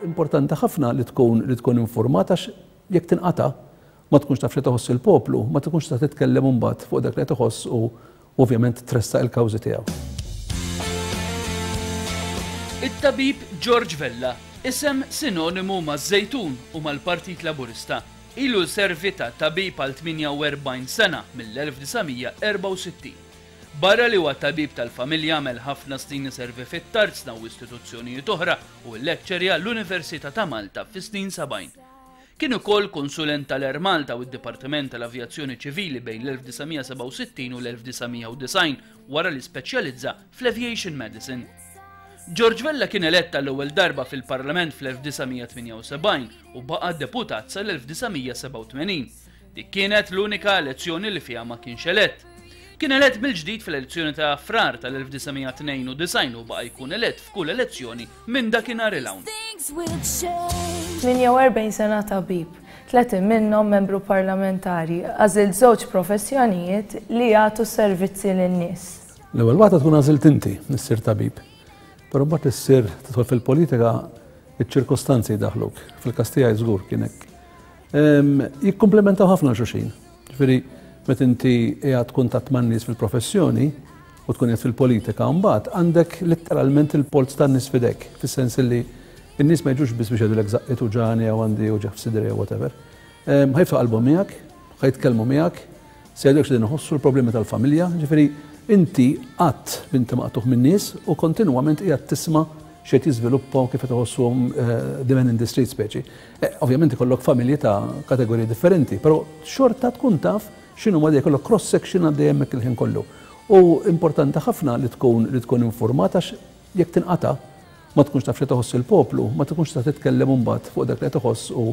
Importanti ħafna li tkun li tkun informat għax jekk tinqata' ma tkunx taf xi tħoss il-poplu, ma tkunx tista' titkellem imbagħad fuq dak li qed iħoss u ovvjament tressaq il-kawżi tiegħu. It-tabib George Vella, isem sinonimu maż-Żejtun u mal-Partit Laburista, ilu jservi ta' tabib għal 48 sena mill-1964. Barra li huwa tabib tal-familja għamel ħafna snin iservi fit-tarzna u istituzzjonijiet oħra u llekċerja l-Università ta' Malta fis-snin 70. Kien ukoll konsulent tal-Air Malta u d-Dipartiment tal-Avjazzjoni Ċivili bejn l-1967 u l-1990 wara li speċjalizza fl-Aviation Medicine. George Vella kien elett għall-ewwel darba fil-Parlament fl-1978 u baqa' deputat sal-1987. Dik kienet l-unika elezzjoni li fiha ma kienx elett. Kien elett mill-ġdid fl-elezzjoni ta' Frar tal-1992 u baqa' jkun elett f'kull elezzjoni minn dakinhar 'il hawn. 48 sena tabib, 30 minnhom membru parlamentari, għażilt żewġ professjonijiet li jagħtu servizzi lin-nies. L-ewwel waħda tkun għażilt inti li ssir tabib. Però mbagħad li ssir tidħol fil-politika iċ-ċirkostanzi jdaħħluk. Fil-każ tiegħi żgur kien hekk. Jikkumplementaw ħafna xulxin. Ġifieri meta inti qiegħed kuntatt man-nies fil-professjoni u tkun qiegħed fil-politika, mbagħad għandek letteralment il-polz tan-nies f'idejk, fis-sens li n-nies ma jiġux biss biex jgħidulek żaqqi tuġani jew għandi uġigħ f'sidri jew whatever. Ħa jiftħu qalbhom miegħek, ħa jitkellmu miegħek, se jgħidulek x'qegħdin iħossu l-problemi tal-familja, ġifieri inti qatt m'inti maqtugħ min-nies u kontinwament qiegħed tisma' x'qed jiżviluppa u kif qed iħossuhom the men in the street speċi. Ovvjament ikollok familji ta' kategoriji differenti, però xorta tkun taf x'inhuma dejjem ikollok cross section għaddej hemmhekk il-ħin kollu. U importanti ħafna li tkun li tkun informat għax jekk tinqata' ma tkunx taf xi tħoss il-poplu, ma tkunx tista' titkellem imbagħad fuq dak li qed iħoss u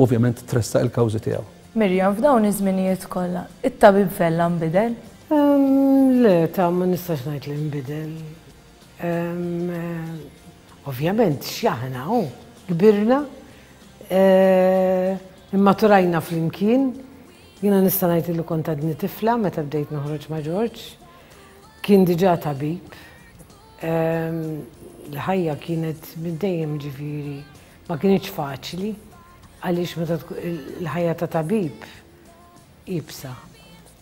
ovvjament tressaq il-kawżi tiegħu. Miriam, f'dawn iż-żminijiet kollha, it-tabib Vella nbidel? Le, ta' ma nistax ngħid li nbidel. Ovvjament, x'aħna hu, kbirna, immaturajna flimkien. Jiena nista' ngħid li kont għadni tifla meta bdejt noħroġ ma' George. Kien diġà tabib. Il-ħajja kienet minn dejjem ġifieri ma kinitx faċli għaliex meta l-ħajja ta' tabib iebsa.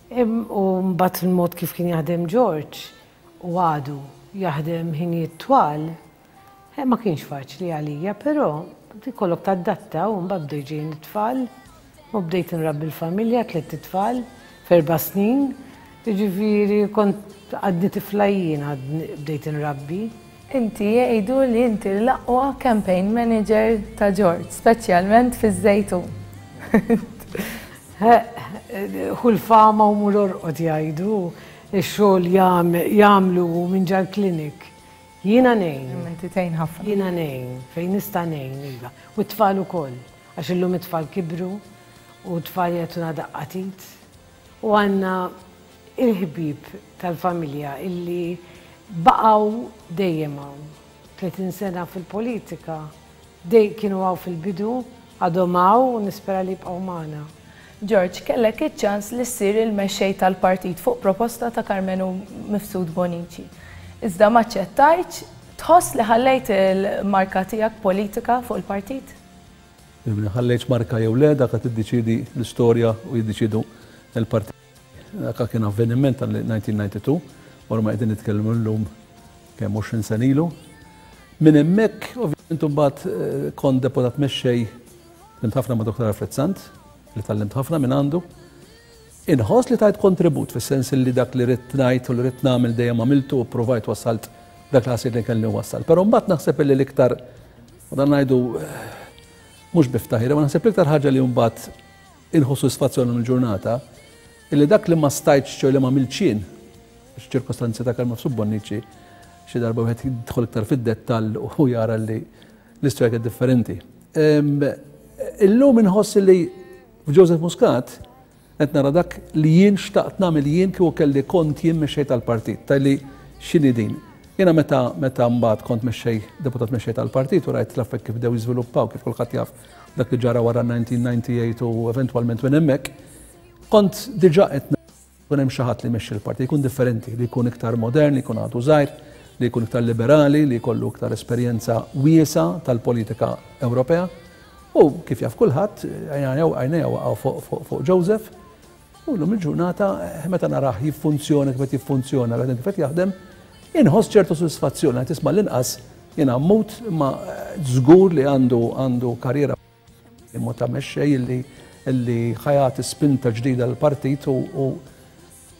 U mbagħad il-mod kif kien jaħdem George u għadu jaħdem ħinijiet twal, ma kienx faċli għalija, però ikollok tadatta u mbagħad bdew ġejjin it-tfal u bdejt inrabbi l-familja, tlett itfal f'erba' snin, jiġifieri kont għadni tifla jien għadni bdejt inrabbi. Inti jgħidu li inti l-aqwa campaign manager ta' George, speċjalment fiż-Żejtun. Ħu l-fama u mur orqod jgħidu, ix-xogħol jagħmlu minn ġal-clinic. Jiena ngħin. Inti tgħin ħafna. Jiena ngħin, fejn nista' ngħin, iva. U t-tfal ukoll, għax illum it-tfal kibru u t-tfal jagħtuna daqqa t'id. U għandna il-ħbieb tal-familja illi baqgħu dejjem hawn. 30 sena fil-politika, dej kienu hawn fil-bidu, għadhom hawn u nispera li jibqgħu magħna. George, kellek iċ-ċans li ssir il-mexxej tal-partit fuq proposta ta' Karmenu Mifsud Bonnici. Iżda m'aċċettajtx, tħoss li ħallejt il-marka tiegħek politika fuq il-partit? Ħallejtx marka jew le, dak tiddeċiedi l-istorja u jiddeċidu l-partit. Dak kien avveniment tal-1992, ormai qegħdin nitkellmu llum kemm 20 sena ilu. Minn hemmhekk, ovvjament imbagħad kont deputat mexxej Tkellimt ħafna ma' Dr. Alfred Sant, li tgħallimt ħafna minn għandu. Inħoss li tajt kontribut fis-sens li dak li ridt ngħid u li ridt nagħmel dejjem għamiltu u provajt wassalt dak li ħassejt li kelli nwassal. Però mbagħad naħseb li l-iktar u dan ngħidu mhux biftaħir, ma naħseb l-iktar ħaġa li mbagħad inħoss sodisfazzjon mill-ġurnata illi dak li ma stajtx ċew li ma għamiltx jien, ċirkostanzi ta' Karmenu Mifsud Bonnici, xi darba wieħed jidħol iktar fid-dettall u jara li l-istorja kienet differenti. Illum inħoss li f'Joseph Muscat Qed nara dak li jien xtaqt nagħmel jien kieku kelli kont jien mexxej tal-partit. Tgħidli x'inhi din? Jiena meta meta mbagħad kont mexxej deputat mexxej tal-partit u rajt l-affarijiet kif bdew jiżviluppaw kif kulħadd jaf dak li ġara wara 1998 u eventwalment minn hemmhekk, kont diġà qed jkun hemm xi ħadd li jmexxi l-partit, jkun differenti, li jkun iktar modern, li jkun għadu żgħir, li jkun iktar liberali, li jkollu iktar esperjenza wiesgħa tal-politika Ewropea. U kif jaf kulħadd, għajnejja waqgħu fuq Joseph, u llum il-ġurnata meta narah jiffunzjona kif qed jiffunzjona, kif qed jaħdem, inħoss ċertu sodisfazzjon, qed tisma' l-inqas jiena mmut imma żgur li għandu għandu karriera imma ta' mexxej illi illi ħajati spinta ġdida l-partit u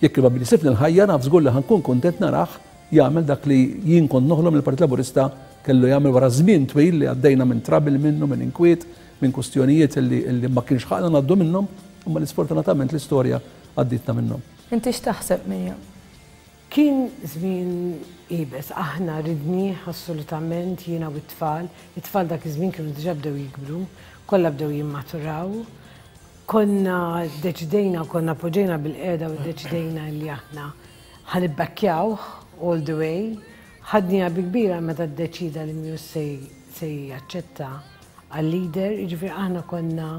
jekk il-Babili sifni l-ħajja naf żgur li ħankun kuntent narah jagħmel dak li jien kont noħlom li l-Partit Laburista kellu jagħmel wara żmien twil li għaddejna minn trouble minnu, minn inkwiet, minn kustjonijiet illi ma kienx ħaqna ngħaddu minnhom, imma li sfortunatament l-istorja għaddietna minnhom. Inti x'taħseb Miriam? Kien żmien iebes, aħna ridnih assolutament jiena u t-tfal, it-tfal dak iż-żmien kienu diġà bdew jikbru, kollha bdew jimmaturaw. Konna ddeċidejna, konna poġġejna bilqiegħda u ddeċidejna li aħna ħa nibbackjawh all the way. Ħadniha bi kbira meta ddeċida li mhux se se jaċċetta għal leader, jiġifieri aħna konna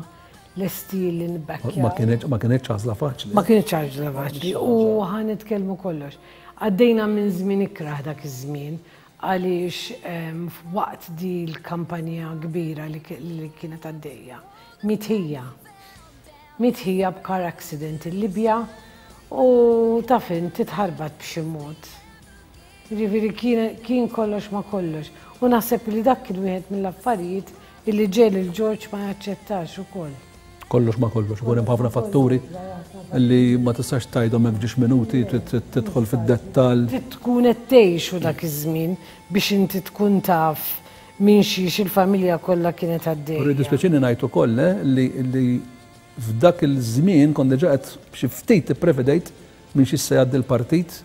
lesti li nibbackjaw. Ma kinitx ma kinitx għażla faċli. Ma kinitx għażla faċli u ħa nitkellmu kollox. Għaddejna minn żmien ikrah dak iż-żmien għaliex waqt di l-kampanja kbira li kienet għaddejja. Miet ħija. Miet ħija b'car accident il-Libja u taf int titħarbat b'xi mod. Jiġifieri kien kien kollox ma' kollox. U naħseb li dak kien wieħed mill-affarijiet illi ġegħel lil George ma jaċċettax ukoll. Kollox ma' kollox, ikun hemm ħafna fatturi li ma tistax tgħidhom hekk f'ġiex minuti, trid tidħol fid-dettall. Trid tkun qed tgħixu dak iż-żmien biex inti tkun taf minn xiex il-familja kollha kienet għaddejja. Però jiddispjaċini ngħid ukoll li f'dak il-żmien kont diġà qed xi ftit ipprevedejt minn xiex se jgħaddi l-partit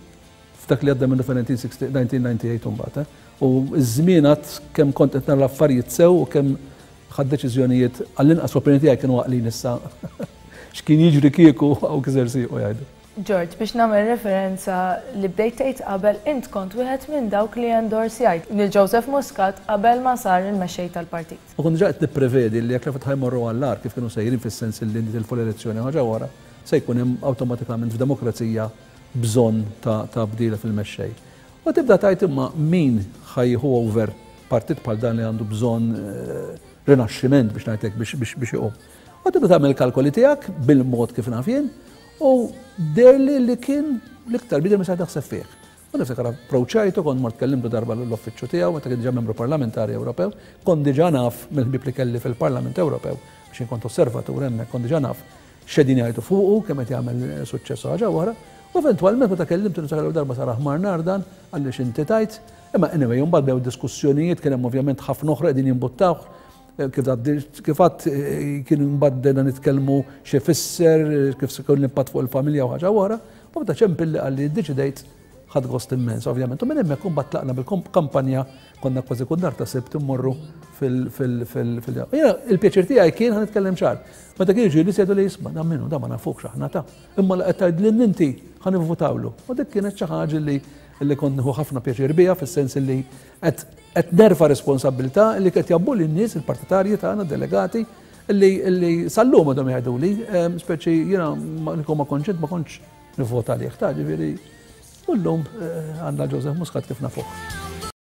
f'dak li għadda minnu fil-1998 imbagħad. U ż-żmien għad kemm kont qed nara l-affarijiet sew u kemm ħadt deċiżjonijiet għall-inqas l-opinjoni tiegħi kienu għaqlin issa. X'kien jiġri kieku hawn kiser siequ jgħidu. George, biex nagħmel referenza li bdejt tgħid qabel, int kont wieħed minn dawk li endorsjajt lil Joseph Muscat qabel ma sar il-mexxej tal-partit. U kont diġà qed nipprevedi li jekk l-affarijiet ħa jmorru għall-agħar kif kienu sejrin fis-sens li nitilfu l-elezzjoni ħaġa wara, se jkun hemm awtomatikament f'demokrazija bżonn ta' bdila fil-mexxej. U tibda tgħid imma min ħa jieħu over partit bħal dan li għandu bżonn rinaxximent biex ngħid hekk biex iqum. U tibda tagħmel il-kalkoli tiegħek bil-mod kif naf jien u deherli li kien l-iktar bniedem li stajt naħseb fih. U niftakar approċċajtu, kont mort kellimtu darba l-uffiċċju tiegħu meta kien diġà membru parlamentari Ewropew, kont diġà naf mill-ħbieb li kelli fil-Parlament Ewropew, għax jien kont osservatur hemmhekk, kont diġà naf x'qegħdin jgħidu fuqu, kemm qed jagħmel suċċess u ħaġa oħra. U eventwalment meta kellimtu niftakar l-ewwel darba sar aħmar nar dan, qalli x'inti tgħid. Imma anyway, imbagħad bdew diskussjonijiet, kien hemm ovvjament ħafna oħra qegħdin jimbuttawh, Kif kif għadt kien imbagħad bdejna nitkellmu x'ifisser, kif se jkun l-impatt fuq il-familja u ħaġa oħra, u meta ċempilli qalli ddeċidejt ħadt gost immens, ovvjament. U minn hemmhekk imbagħad tlaqna bil-kampanja konna kważi kull nhar ta' Sibt immorru fil fil fil fil Jiena il-pjaċir tiegħi kien ħa nitkellem ċar. Meta kienu jiġu nies jgħidu li isma' dan minnu dan ma nafukx aħna ta' imma li qed tgħidlin inti ħa nivvutawlu. U dik kienet xi ħaġa li li kont nieħu ħafna pjaċir biha fis-sens li qed Qed nerfa' responsabbiltà li qed jgħabbuli n-nies, il-partitarji tagħna, delegati, li sal-lum għadhom jgħiduli, speċi jiena kieku ma kontx int ma kontx nivvota għalih ta' ġifieri u llum għandna Joseph Muscat kif nafuh.